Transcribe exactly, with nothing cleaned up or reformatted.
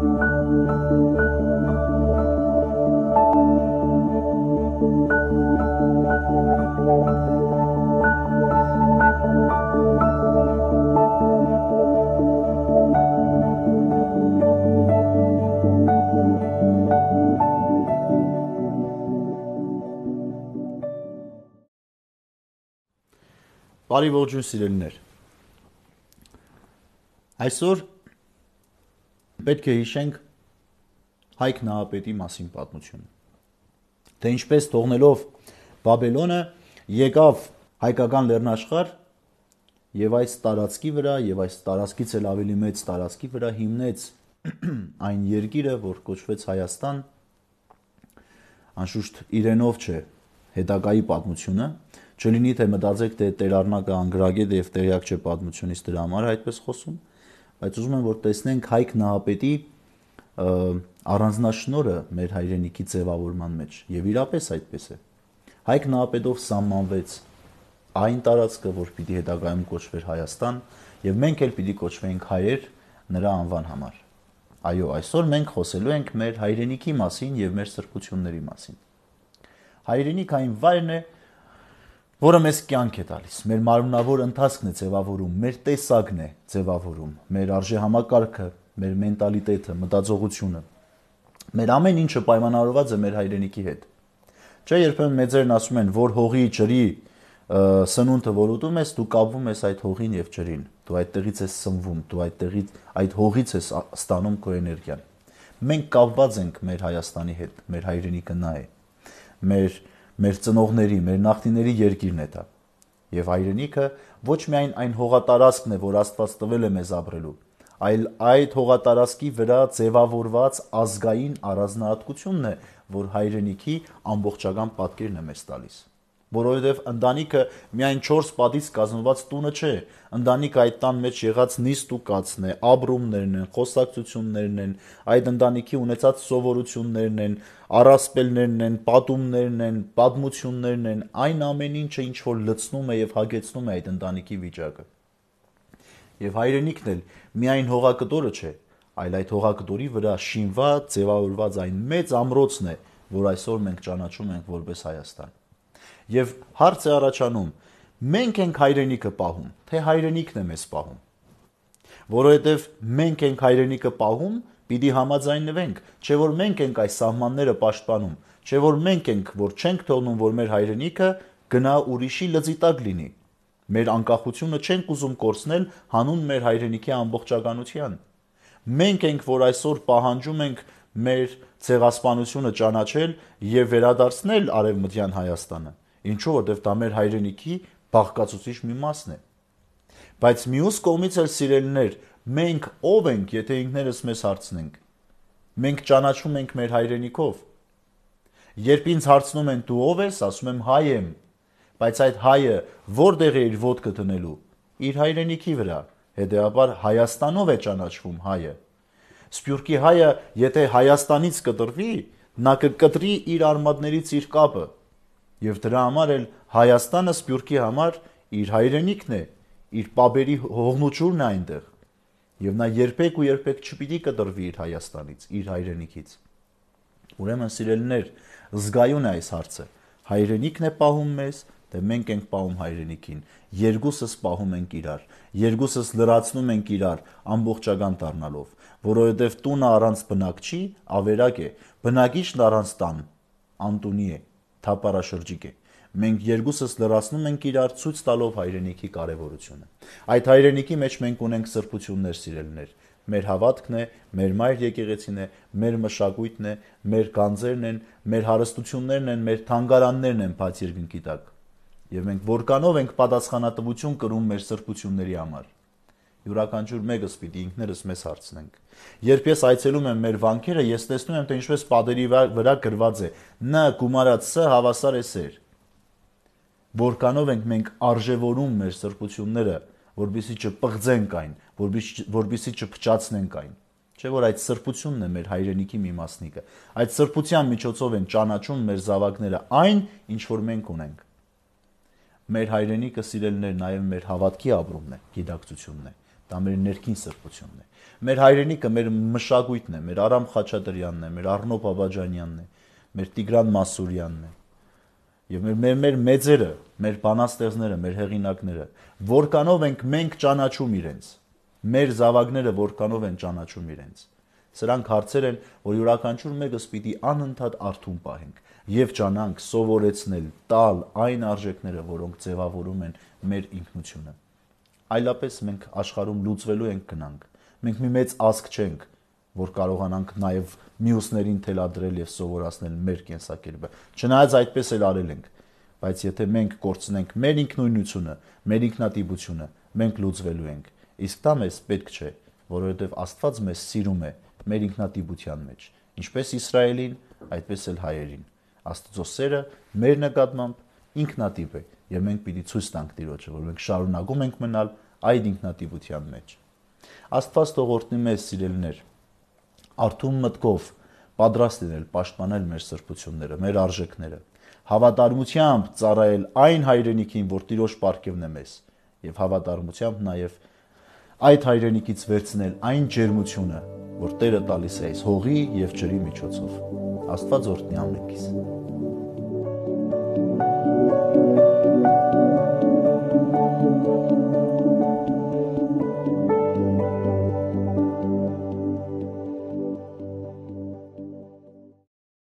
Բարի ողջույն սիրելիներ։ Այսօր պետք է հիշենք Հայկ Նահապետի մասին պատմությունը։ Թե ինչպես թողնելով Բաբելոնը եկավ հայկական լեռնաշխարհ եւ այս տարածքի վրա եւ այս տարածքից էլ ավելի մեծ տարածքի վրա հիմնեց այն երկիրը, որ կոչվեց Հայաստան, անշուշտ իրենով չէ հետագայի պատմությունը, չլինի թե մտածեք, թե Տերառնակը անգրագետ է եւ տեղյակ չէ պատմությունից, դրա համար այդպես խոսում, բայց ուզում եմ որ տեսնենք Հայկ Նահապետի առանձնաշնորհը մեր հայրենիքի ձևավորման մեջ եւ իրապես այդպես է։ Հայկ Նահապետով սահմանվեց այն տարածքը, որ պիտի հետագայում կոչվեր Հայաստան, եւ մենք էլ պիտի կոչվենք հայեր նրա անվան համար։ Այո, այսօր մենք խոսելու ենք մեր հայրենիքի մասին եւ մեր սրբությունների մասին։ Հայրենիք այն վայրն է, որը մեզ կյանք է տալիս, մեր մարմնավոր ընթացքն է ձևավորում, մեր տեսակն է ձևավորում, մեր արժեհամակարգը, մեր մենտալիտետը, մտածողությունը, մեր ամեն ինչը պայմանավորված է մեր հայրենիքի հետ։ Չէ, երբեմն մեծերն ասում են, որ հողի ջրի սնունդը որ ուտում ես, դու կապվում ես այդ հողին եւ ջրին, դու այդտեղից ես սնվում, դու այդտեղից այդ հողից ես ստանում քո էներգիան։ Մենք կապված ենք մեր Հայաստանի հետ, մեր հայրենիքը նա է, մեր մեր ծնողների, մեր նախնիների երկիրն է դա։ Եվ հայրենիքը ոչ միայն այն հողատարածքն է, որ Աստված տվել է մեզ ապրելու, այլ այդ հողատարածքի վրա ձևավորված ազգային առանձնահատկությունն է, որ հայրենիքի ամբողջական պատկերն է մեզ տալիս։ Որովհետև ընտանիքը միայն չորս պատից կազմված տունը չէ, ընտանիքը այդ տան մեջ եղած նիստ ու կացն է, ապրումներն են, խոսակցություններն են, այդ ընտանիքի ունեցած սովորություններն են, առասպելներն են, պատումներն են, պատմություններն են, այն ամեն ինչը ինչ որ լցնում է եւ հագեցնում է այդ ընտանիքի վիճակը։ Եվ հայրենիքն էլ միայն հողակտորը չէ, այլ այդ հողակտորի վրա շինված, ձևավորված այն մեծ ամրոցն է, որ այսօր մենք ճանաչում ենք որպես Հայաստան։ Եվ հարց է առաջանում, մենք ենք հայրենիքը պահում, թե հայրենիքն է մեզ պահում։ Որովհետև մենք ենք հայրենիքը պահում, պիտի համաձայնվենք, չէ որ մենք ենք այս սահմանները պաշտպանում, չէ որ մենք ենք, որ չենք թողնում, որ մեր հայրենիքը գնա ուրիշի լծի տակ լինի։ Մեր անկախությունը չենք ուզում կորցնել հանուն մեր հայրենիքի ամբողջականության։ Մենք ենք, որ այսօր պահանջում ենք մեր ցեղասպանությունը ճանաչել եւ վերադարձնել Արևմտյան Հայաստանը։ Ինչու, որտեվ դա մեր հայրենիքի բաղկացուցիչ մի մասն է։ Բայց մյուս կողմից էլ սիրելիներ, մենք ով ենք, եթե ինքներս մեզ հարցնենք։ Մենք ճանաչում ենք մեր հայրենիքով։ Երբ ինձ հարցնում են դու ով ես, ասում եմ հայ եմ, բայց այդ հայը որտեղ է իր ոտքը դնելու։ Իր հայրենիքի վրա, հետեւաբար Հայաստանով է ճանաչվում հայը։ Սփյուռքի հայը, եթե Հայաստանից կտրվի, նա կկտրի իր արմատներից իր կապը։ Եվ դրա համար էլ Հայաստանը Սփյուռքի համար իր հայրենիքն է, իր պապերի հողնուճուրն է այնտեղ։ Եվ նա երբեք ու երբեք չպիտի կտրվի իր Հայաստանից, իր հայրենիքից։ Ուրեմն սիրելիներ, զգայուն է այս հարցը։ Հայրենիքն է պահում մեզ, թե մենք ենք պահում հայրենիքին։ Երկուսս պահում ենք իրար, երկուսս լրացնում ենք իրար ամբողջական դառնալով, որովհետև տունը առանց բնակ չի, ավերակ է, բնակիչն առանց տան անտունի է, թափառաշրջիկ է։ Մենք երկուսս լրացնում ենք իրար ցույց տալով հայրենիքի կարևորությունը։ Այդ հայրենիքի մեջ մենք ունենք սրբություններ, սիրելիներ։ Մեր հավատքն է, մեր մայր եկեղեցին է, մեր մշակույթն է, մեր գանձերն են, մեր հարստություններն են, մեր թանգարաններն են բաց երկնքի տակ։ Եվ մենք որքանով ենք պատասխանատվություն կրում մեր սրբությունների համար։ Յուրաքանչյուր մեկս պիտի ինքներս մեզ հարցնենք։ Երբ ես այցելում եմ մեր վանքերը, ես տեսնում եմ, թե ինչպես պատերի վրա գրված է. «Ն գումարած Ս հավասար է սեր»։ Որքանով ենք մենք արժևորում մեր սրբությունները, որբիսի չպղծենք այն, որբիսի չփչացնենք այն։ Չէ՞ որ այդ սրբությունն է մեր հայրենիքի մի մասնիկը։ Այդ սրբության միջոցով են ճանաչում մեր զավակները այն, ինչ որ մենք ունենք։ Մեր հայրենիքը, սիրելիներ, նաև մեր հավատքի ապրումն է, գիտակցությունն է։ դա մեր ներքին սրբությունն է։ Մեր հայրենիքը մեր մշակույթն է, մեր Արամ Խաչատրյանն է, մեր Առնո Բաբաջանյանն է, մեր Տիգրան Մասուրյանն է։ Եվ մեր մեր, մեր մեծերը, մեր բանաստեղծները, մեր հեղինակները, որքանով ենք մենք ճանաչում իրենց, մեր զավակները որքանով են ճանաչում իրենց։ Սրանք հարցեր են, որ յուրաքանչյուր մեկս պիտի անընդհատ արթուն պահենք եւ ճանանք սովորեցնել, տալ այն արժեքները, որոնք ձևավորում են մեր ինքնությունը։ Այլապես մենք աշխարհում լուծվելու ենք գնանք։ Մենք մի մեծ ազգ չենք, որ կարողանանք նաև մյուսներին թելադրել եւ սովորացնել մեր կենսակերպը։ Չնայած այդպես էլ արել ենք, բայց եթե մենք կորցնենք մեր ինքնույնությունը, մեր ինքնատիպությունը, մենք լուծվելու ենք։ Իսկ դա մեզ պետք չէ, որովհետեւ Աստված մեզ սիրում է մեր ինքնատիպության մեջ, ինչպես Իսրայելին, այդպես էլ հայերին։ Աստծո սերը մեր նկատմամբ ինքնատիպ է եւ մենք պիտի ցույց տանք Տիրոջը, որ մենք շարունակում ենք մնալ այդ ինքնատիպության մեջ։ Աստված թող օրհնի մեզ, սիրելիներ, արթուն մտքով պատրաստ լինել պաշտպանել մեր սրբությունները, մեր արժեքները, հավատարմությամբ ծառայել այն հայրենիքին, որ Տիրոջ պարգևն է մեզ, եւ հավատարմությամբ նաեւ այդ հայրենիքից վերցնել այն ջերմությունը, որ Տերը տալիս է այս հողի եւ ջրի միջոցով։ Աստված օրհնի ամենքիս։